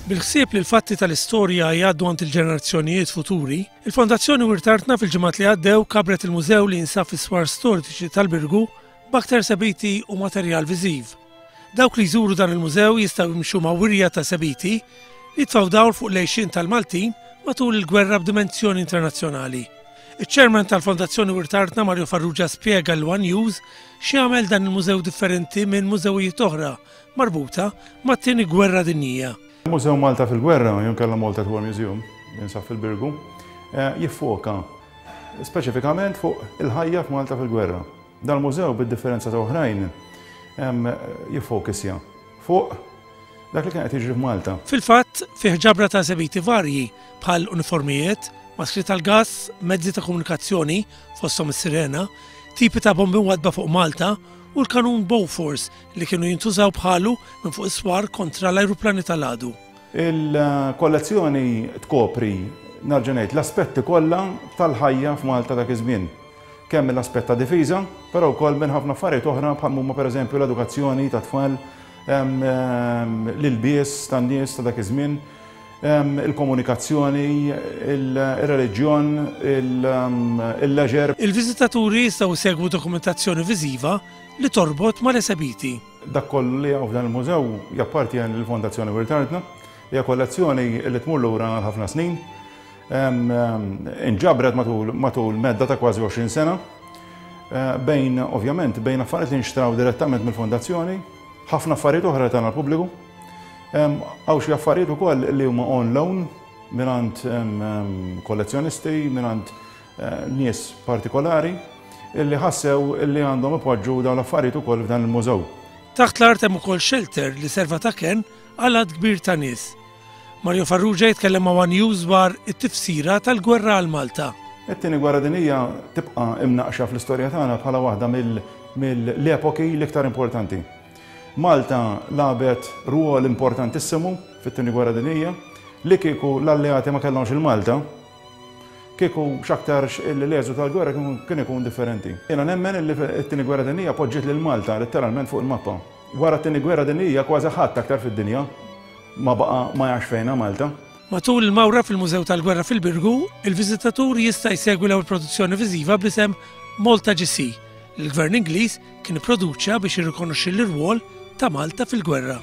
Bil-ħsieb li l-fatti tal-istorja jgħaddu għand il-ġenerazzjonijiet futuri, il-Fondazzjoni Wirt Artna fil-ġimgħat li għaddew kabret il-mużew li jinsab fis-swar storiċi tal-Birgu b'aktar esebiti u materjal viżiv. Dawk li jżuru dan il-mużew jistgħu jimxu ma' wirja ta' esebiti li jitfgħu dawl fuq l-għixien tal-Maltin matul il-gwerra b'dimensjoni internazzjonali. Iċ-Chairman tal-Fondazzjoni Wirt Artna Mario Farrugia spjega lil one News x'jagħmel dan il-mużew differenti minn mużewijiet oħra marbuta mat-Tieni Gwerra Dinjija. Il-Mużew Malta fil-Gwerra, jew inkella Malta at War Museum, li jinsab fil-Birgu, jiffoka speċifikament fuq il-ħajja f'Malta fil-gwerra. Dal-mużew, bid-differenza ta' oħrajn, jiffokisja fuq dak li kien qed jiġri f'Malta. Fil-fatt, fih ġabra ta' esebiti varji bħal uniformijiet, maskri tal-gass, mezzi ta' komunikazzjoni, fosthom is-sirena, tipi ta' bombi mwaddba fuq Malta u l-kanun Bofors li kienu jintużaw bħalu minn fuq is-swar kontra l-ajruplani tal-għadu. Il-kollezzjoni tkopri, nerġa' ngħid, l-aspetti kollha tal-ħajja f'Malta dak iż-żmien. Kemm mill-aspett ta' difiża, però wkoll minn ħafna affarijiet oħra bħal huma pereżempju l-edukazzjoni tat-tfal, l-ilbies tan-nies ta' dak iż-żmien, il-komunikazzjoni, ir-reliġjon, il-leisure. Il-viżitaturi jistgħu jsegwu dokumentazzjoni viżiva li torbot mal-esebiti. Dak kollu li hawn f'dan il-mużew jappartjeni lill-Fondazzjoni Wirt Artna. Hija kollezzjoni li tmur lura għal ħafna snin. Inġabret matul medda ta' kważi 20 sena. Bejn, ovvjament, bejn affarijiet li nxtraw direttament mill-fondazzjoni, ħafna affarijiet oħra li tana l-pubbliku. Hawn xi affarijiet ukoll li huma on loan mingħand kollezzjonisti, mingħand nies partikolari illi ħassew illi għandhom ipoġġu dawn l-affarijiet ukoll f'dan il-mużew. Taħt l-art hemm ukoll shelter li serva ta' kenn għal għadd kbir ta' nies. Mario Farrugia jitkellem ma' one News dwar it-tifsira tal-gwerra għal Malta. It-Tieni Gwerra Dinjija tibqa' imnaqqxa fl-istorja tagħna bħala waħda mill-epoki l-iktar importanti. Malta lagħbet rwol importantissimu fit-Tieni Gwerra Dinjija. Li kieku l-Alleati ma kellhomx il-Malta, Kieku x'aktarx illi l-eżu tal-gwerra kien ikun differenti. Jiena nemmen illi t-Tieni Gwerra Dinjija poġġiet lil Malta letteralment fuq il-mappa. Wara t-Tieni Gwerra Dinjija kważi ħadd aktar fid-dinja ma baqa' ma jafx fejn hi Malta. Matul il-mawra fil-Mużew tal-Gwerra fil-Birgu, il-viżitatur jista' jsegwi l-ewwel produzzjoni viżiva bl-isem Malta GC, li l-Gvern Ingliż kien ipproduċa biex jirrikonoxxi l-irwol ta' Malta fil-gwerra.